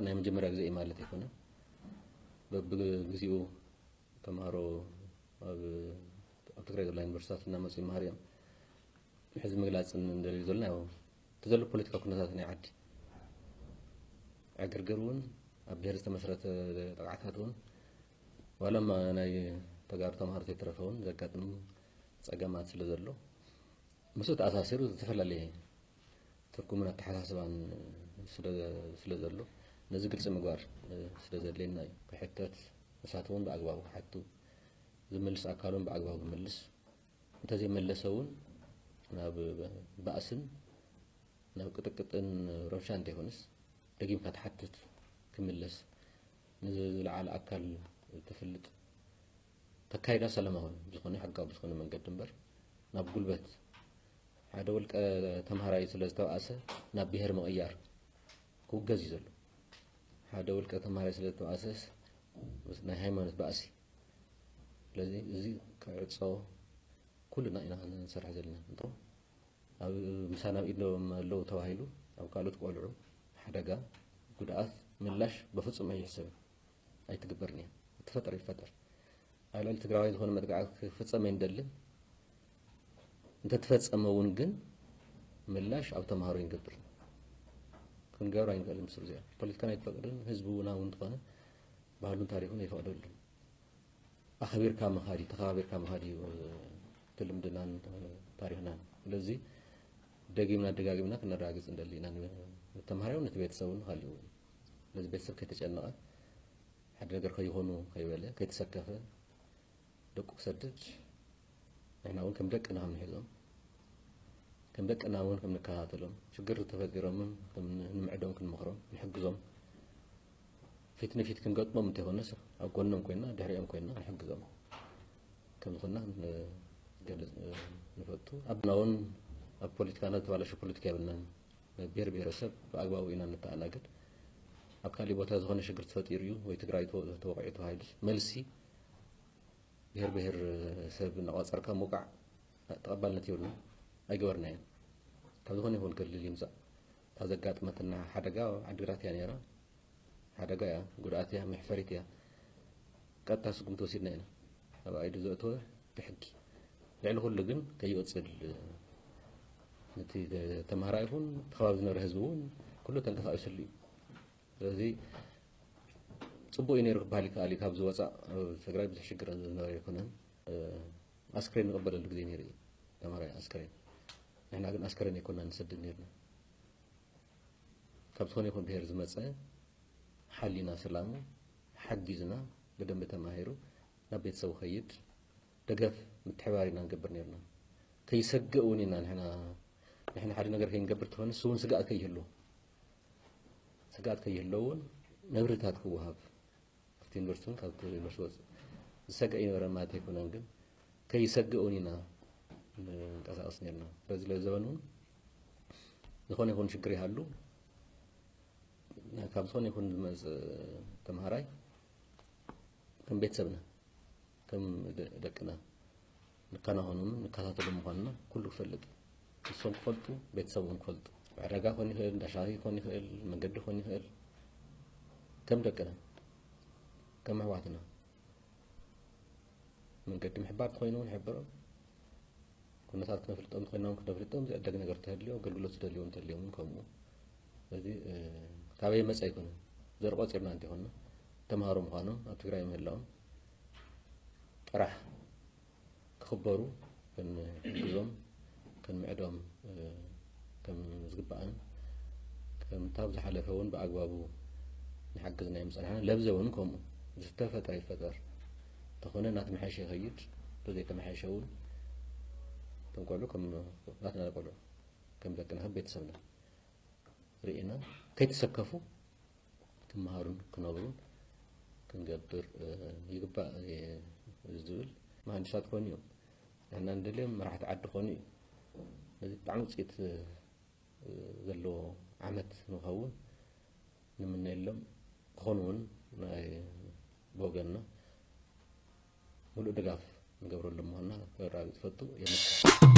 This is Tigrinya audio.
ናይ መጀመርያ ግዜ እዩ ማለት ኣይኮነን። በብግዚኡ ተምሃሮ ኣብ ኣብ ትግራይ ዘሎ ዩኒቨርሲቲታት እናመፁ ይመሃሩ እዮም። ሕዚ ምግላፅ እንደልዩ ዘለና ያው እቲ ዘሎ ፖለቲካዊ ኩነታት ናይ ዓዲ ዕግርግር እውን ኣብ ብሄር ዝተመስረተ ጥቕዓታት እውን ዋላ እማ ናይ ተጋሩ ተምሃሮ ዘይተረፈ እውን ዘጋጥም ፀገማት ስለ ዘሎ ምስኡ ተኣሳሲሩ ዝተፈላለየ ትርጉምን ኣተሓሳስባን ስለ ስለ ዘሎ ነዚ ግልፂ ምግባር ስለ ዘድልየና እዩ ክሕተት። ንሳት እውን ብኣግባቡ ክሓቱ ዝምልስ ኣካል እውን ብኣግባቡ ክምልስ እንተዘይመለሰ እውን ናብ ባእስን ናብ ቅጥቅጥን ረብሻ እንተይኮነስ ደጊምካ ትሓትት ክምለስ ንዝለዓለ ኣካል ትፍልጥ ተካይዳ ሰላማዊ ዝኾነ ሕጋዊ ዝኾነ መንገዲ እምበር ናብ ጉልበት ሓደ ውልቀ ተምሃራይ ስለ ዝተባእሰ ናብ ብሄር ምቕያር ክውገዝ እዩ ዘሎ። ሓደ ውልቀ ተምሃራይ ስለ ዝተባእሰስ ናይ ሃይማኖት ባእሲ ስለዚ እዚ ክዕፆ ኩልና ኢና ንሰርሕ ዘለና እንቶ ኣብ ምሳና ኣብ ኢዶም ኣለዉ ተባሂሉ ኣብ ካልኦት ቆልዑ ሓደጋ ጉድኣት ምላሽ በፍፁም ኣይሕሰብን ኣይትግበርን እያ። እትፈጠር ይፈጠር ኣብ ልዕሊ ትግራዋይ ዝኾነ መጥቃዕቲ ክፍፀም ኣይንደልን። እንተተፈፀመ እውን ግን ምላሽ ኣብ ተምሃሮ ይንገብር ክንገብር ኣይንክእል ምስ እዚኣ ፖለቲካን ኣይትፈቅድን ህዝቢ እውን እውን ዝኾነ ባህሉን ታሪኹን ኣይፈቅደሉን። ኣኸቢርካ ምኻድ እዩ ተኸባቢርካ ምኻድ እዩ እቲ ልምድናን ታሪኽናን ስለዚ ደጊምና ደጋጊምና ክነረጋግፅ እንደሊ ኢና ንተምሃራይ ነቲ ቤተሰብ ንካሊኡ ስለዚ ቤተሰብ ከይተጨነቐ ሓደ ነገር ከይኾኑ ከይበለ ከይተሰከፈ ደቁ ክሰድድ ንሕና እውን ከም ደቅና ከም ንሕዞም ከም ደቅና እውን ከም ንከታተሎም ሽግር ተፈጢሮምን ንምዕዶም ክንመኽሮም ንሕግዞም ፊት ንፊት ክንገጥሞም እንተይኮነስ ኣብ ጎኖም ኮይና ድሕሪኦም ኮይና ንሕግዞም ከም ዝኾንና ንገልፅ ንፈቱ ኣብና እውን ኣብ ፖለቲካና ዝተባለሸ ፖለቲካ የብልናን ብሄር ብሄረሰብ ብኣግባቡ ኢና ንተኣናገድ ኣብ ካሊእ ቦታ ዝኾነ ሽግር ተፈጢሩ እዩ ወይ ትግራይ ተወቂዑ ተባሂሉስ መልሲ ብሄር ብሄር ሰብ እናቋፀርካ ምውቃዕ ተቐባልነት የብሉን ኣይገበርናዮን ካብ ዝኾነ ይኹን ክልል ይምፃእ እታ ዘጋጥመትና ሓደጋ ዓድግራት እያ ነይራ ሓደጋ እያ ጉድኣት እያ መሕፈሪት እያ ቀጥታ ስጉምቲ ወሲድና ኢና ኣብ ኣይዱ ዘእተወ ብሕጊ ልዕሊ ኩሉ ግን ከይወፅል ነቲ ተምሃራ ይኹን ተኸባቢ ዝነበረ ህዝቢ እውን ኩሉ ተንቀሳቂስሉ እዩ ስለዚ ፅቡቅ እዩ ነይሩ ክበሃል ይከኣል እዩ ካብ ዝወፃእ ትግራይ ብዙሕ ሽግር ዝነበረ ኣይኮነን ኣስክሬን ንቕበለሉ ግዜ ነይሩ እዩ ተማራይ ኣስክሬን ንሕና ግን ኣስክሬን ኣይኮና ንሰድድ ነርና ካብ ዝኾነ ይኹን ብሄር ዝመፀ ሓሊና ሰላሙ ሓጊዝና ብደንቢ ተማሂሩ ናብ ቤተሰቡ ከይድ ደገፍ ምትሕባር ኢና ንገብር ነርና ከይሰግእ እውን ኢና ንሕና ንሕና ሓደ ነገር ከይንገብር ተኾነ ንሱ እውን ስጋኣት ከይህሉ ስጋኣት ከይህለውን መብርህታት ክወሃብ ኣብቲ ዩኒቨርሲቲ እውን ካብቲ ዩኒቨርሲቲ ወፅእ ዝሰግእ ኣይነበረን ማለት ኣይኮነን ግን ከይሰግእ እውን ኢና ንንቀሳቀስ ነርና ስለዚ ለዘበን እውን ዝኾነ ይኹን ሽግር ይሃሉ ካብ ዝኾነ ይኹን ዝመፅእ ተምሃራይ ከም ቤተሰብና ከም ደቅና ንከናኸኖምን ንከታተሎ ምዃንና ኩሉ ክፈልጥ ንሶም ክፈልጡ ቤተሰብ እውን ክፈልጡ ዕዳጋ ኮን ይኽእል እንዳሻሂ ኮን ይኽእል መንገዲ ኮን ይኽእል ከም ደቅና ከም ኣሕዋትና መንገዲ ምሕባር ተኮይኑ እውን ሕብሮም ኩነታት ክነፍልጦም ተኮይና እውን ክነፍልጦም ዝዕደግ ነገር ተህልዮ ኣገልግሎት ዝደልዮም ተልዮም እውን ከምኡ ስለዚ ካበይ መፀ ኣይኮነን ዘርኢ ቆፂርና እንተይኮንና ተምሃሮ ምዃኖም ኣብ ትግራይ ምህላዎም ጥራሕ ክኽበሩ ክንሕግዞም ክንምዕዶም ከም ዝግባኣን ከምታ ብዝሓለፈ እውን ብኣግባቡ ንሓግዝ ናይ ምፀናሕና ለብዘ እውን ከምኡ ዝተፈጠረ ይፈጠር ተኾነ እናተመሓሸ ይኸይድ ተዘይተመሓሸ እውን ተንቆልዑ ከም ናትና ቆልዑ ከም ደቅና ከም ቤተሰብና ርኢና ከይተሰከፉ ክመሃሩን ክነብሩን ክንገብር ይግባእ ዝብል መሃንድሳት ኮኑ እዮም። ንሕና ንደልዮም መራሕቲ ዓዲ ኮኑ እዩ። ነዚ ብጣዕሚ ውፅኢት ዘለዎ ዓመት ንኸውን ንምነየሎም ክኾኑ እውን ናይ ብወገንና ሙሉእ ድጋፍ ንገብረሎም ምዃንና ከረጋግፅ ፈቱ የመስግን።